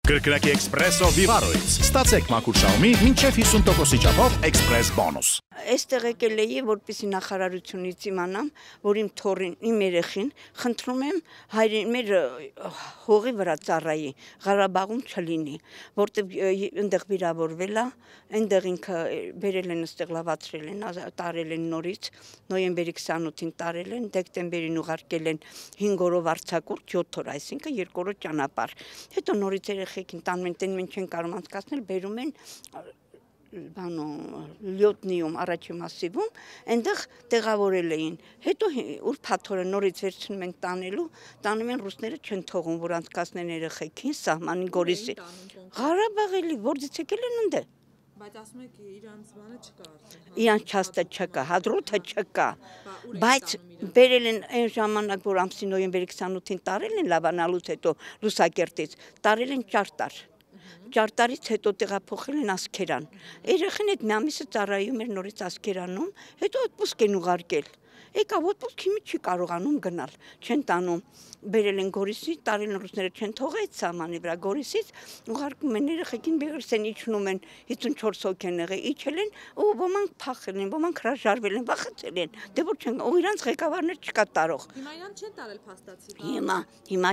Կրկնակի Էքսպրեսո Վիվարոից ստացեք մաքուր շահումի մինչև 50%-ի չափով Էքսպրես բոնուս։ Այստեղ եկել էի, որպեսզի նախարարությունից իմանամ, որ իմ թոռին, իմ երեխին, խնդրում եմ մեր հողի վրա ծառայի, Ղարաբաղում չլինի, որտեղ այնտեղ վիրավորվել է, այնտեղ ինքը բերել են, այստեղ լավացրել են, տարել են նորից, նոյեմբերի 28-ին տարել են, դեկտեմբերին ուղարկել են 5 օրով արձակուրդ, 7 օր, այսինքն 2 օրը ճանապարհ։ Հետո նորից երեխեքին տանում են, տեն մենք չեն կարող անցկացնել, բերում են լյոտնիում առաջի մասիվում, այնտեղ տեղավորել էին, հետո ուրբաթ օրը նորից վերցնում են տանում են ռուսները չեն թողում, որ անցկացնեն երեխեքին, սահմանին Գորիսի, Ղարաբաղ էլի, որտեղից եկել են ընդ է։ Բայց ասում եք իրանց բանը չկա արդեն։ Իրանց չաստը չկա, հադրութը չկա, բայց բերել են այն ժամանակ, որ ամսի նոյեմբերի 28-ին տարել են լավանալուց հետո Լուսակերտից, տարել են ճարտար։ Ճարտարից հետո տեղափոխել են Ասկերան։ Երեխին այդ մի ամիսը ծառայում էր նորից Ասկերանում, հետո отпуск են ուղարկել։ Եկավ отпуск հիմի չի կարողանում գնալ, չեն տանում, բերել են Գորիսի, տարել են ռուսները չեն թողել այդ սահմանի վրա Գորիսից, ուղարկում են երեխեքին Բեգրսեն իջնում են 54 հոգ են եղել, իջել են, ու ոմանք փախել են, ոմանք հրաժարվել են, վախեցել են, դե որ չեն, ու իրանց ղեկավարներ չկա տարող։ Հիմա իրանց չեն տարել փաստացի։ Հիմա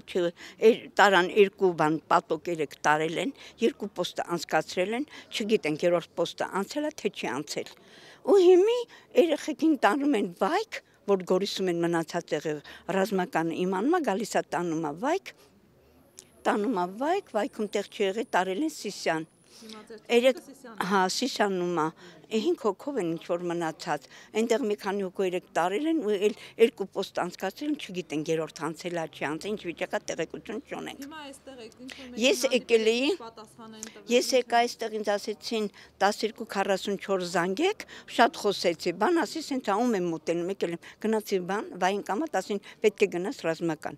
տարան 2 բան պատոկ 3 տարել են, 2 պոստը անցկացրել են, չգիտեն երրորդ պոստը անցել է թե չի անցել։ Ու հիմի երեխեքին տանում են վայք, որ Գորիսում են մնացած եղել ռազմականը իմանում է, գալիս է տանում է վայք, վայքում տեղ չի եղել, տարել են Սիսյան։ Հա, Սիսյանում է, 5 հոգով են ինչ-որ մնացած, այնտեղ մի քանի հոգու 3 տարել են ու 2 պոստ անցկացրել են, չգիտեն երրորդ անցել է, չի անցել, ինչ վիճակա տեղեկություն չունենք։ Հիմա այստեղ Ես եկել էի, ես եկա այստեղ ինձ ասեցին 12:44 զանգեք, շատ խոսեցի, բան ասի, սենց ում եմ մոտենում, եկել եմ, գնացի բան, վային կամատ, ասին պետք է գնաս ռազմական։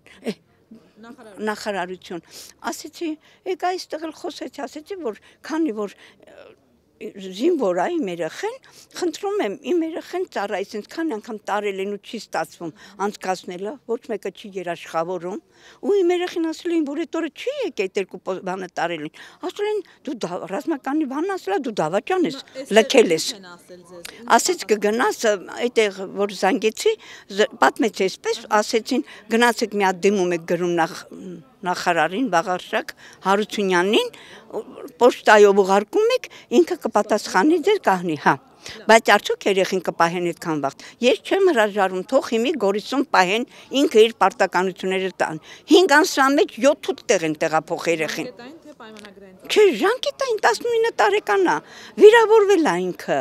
Նախարարություն, ասեցի, եկա այստեղ էլ խոսեցի, ասեցի, որ քանի որ զինվոր է իմ երեխեն, խնդրում եմ իմ երեխեն ծառայի, ասենց քանի անգամ տարել են ու չի ստացվում անցկացնելը, ոչ մեկը չի երաշխավորում, ու իմ երեխին ասել էին, որ այդ օրը չի եկել 2 բանը տարել են, ասել են դու ռազմականի բանն ասել, դու դավաճան ես, լքել ես, ասեց կգնաս այդտեղ որ զանգեցի, պատմեց այսպես, ասեցին գնացեք մի հատ դիմում եք գրում նախարարին Վաղարշակ Հարությունյանին, պոստայով ուղարկում եք, ինքը կպատասխանի ձեր կահնի, հա։ Բայց արդյոք երեխին կպահեն այդքան վաղ։ Ես չեմ հրաժարվում, թող հիմի Գորիսում պահեն, ինքը իր պարտականությունները տան։ 5 ամսվա մեջ 7-8 տեղ են տեղափոխ երեխին։ Չէ, ժանկետային 19 տարեկան է, վիրավորվել է ինքը։